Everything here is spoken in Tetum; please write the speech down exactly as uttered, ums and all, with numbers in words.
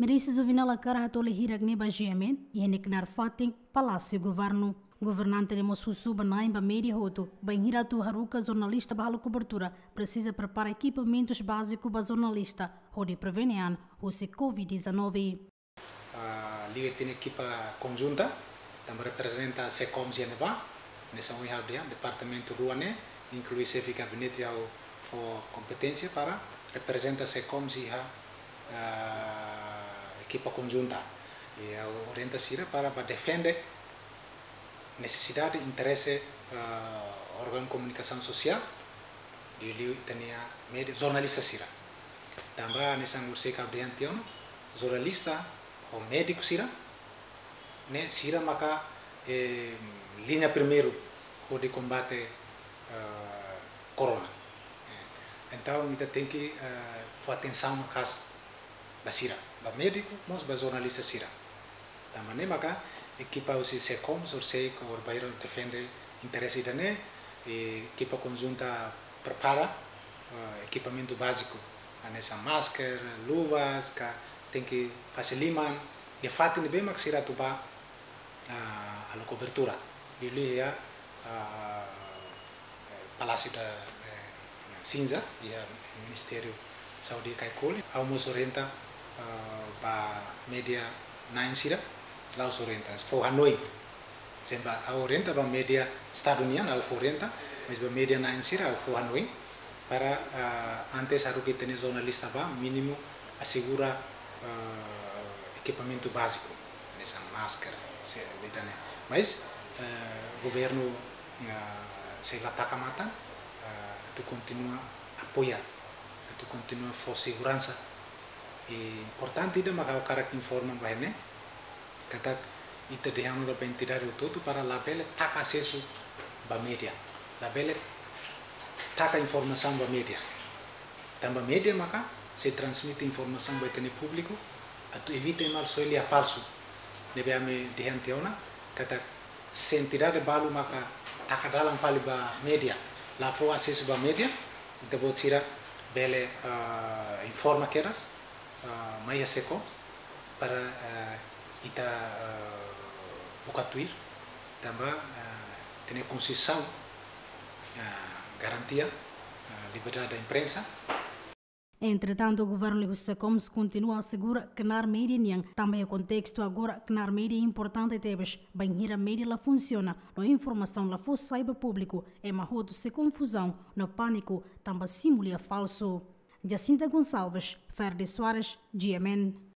Merice Juvenal hakarak hato'o lia hirak ne'e ba G M N iha nia knaar fatin Palásiu Governu. Governante ne'e mós husu ba na'in ba média hotu, bainhira atu haruka jornalista ba halo kobertura, presiza prepara ekipamentus báziku ba jornalista, hodi prevene an husi covid dezanove. Ah, liga ita-nia ekipa konjunta, tanba reprezenta SECOMS iha ne'ebá, hanesan ohin ha'u dehan, departamentu rua ne'e, inklui xefe gabinete ha'u fó kompeténsia para reprezenta SECOMS iha, ah, ekipa konjunta. I ha'u orienta sira para bá defende nesesidade, interese, ah, órgaun komunikasaun sosiál, liuliu ita-nia média, jornalista sira. Tanba hanesan orsida ha'u dehan tiha ona, jornalista ho médiku sira, ne'e sira maka, eh, liña primeiru hodi kombate, eh, korona. Eh, entaun, ita tenke, eh, fó atensaun maka'as ba sira, ba médiku, mós ba jornalista sira. Tanba ne'e maka ekipa husi SECOMS orsida hodi bá defende interese ida-ne'e, i ekipa konjunta prepara, eh, ekipamentu báziku, hanesan masker, luvas, ka tenke fase liman, iha fatin ne'ebé mak sira atu bá, ah, halo kobertura. Liuliu iha, ah, eh, Palásiu da, eh, Sinzas, iha Ministériu Saúde Caicoli. Ha'u mós orienta, ah, ba média na'in sira, la'ós orienta, fó hanoin. Tanba ha'u orienta ba média Estadu nian, ha'u fó orienta, mas ba média na'in sira, ha'u fó hanoin, para, ah, antes haruka ita-nia jornalista bá, mínimu asegura, ah, ekipamentu báziku, hanesan masker, se, ida-ne'e. Mas, eh, governu, ah, sei la taka matan, ah, atu kontinua apoia, atu kontinua fó seguransa. I importante ida maka ha'u hakarak informa ba ita-nia, katak ita dehan ona ba entidade hotu-hotu para labele taka asesu ba média, labele taka informasaun ba média. Tanba média maka sei transmite informasaun ba ita-nia públiku, atu evita ema halo soe lia falsu. Ne'ebé ami dehan tiha ona, katak se entidade balu maka taka dalan fali ba média, la fó asesu ba média, ita-boot sira bele, ah, informa kedas, ah, mai iha SECOMS, para, ah, ita, ah, buka tuir, tanba, ah, ita-nia Konstituisaun, ah, garantia, ah, liberdade da imprensa. Entretantu, governu liuhusi SECOMS kontinua asegura knaar média nian, tanba iha kontestu agora knaar média importante tebes, bainhira média la funsiona, no informasaun la fó sai ba públiku, ema hotu sei konfuzaun no pániku, tanba simu lia falsu. Jacinta Gonçalves, Ferdi Soares, G M N.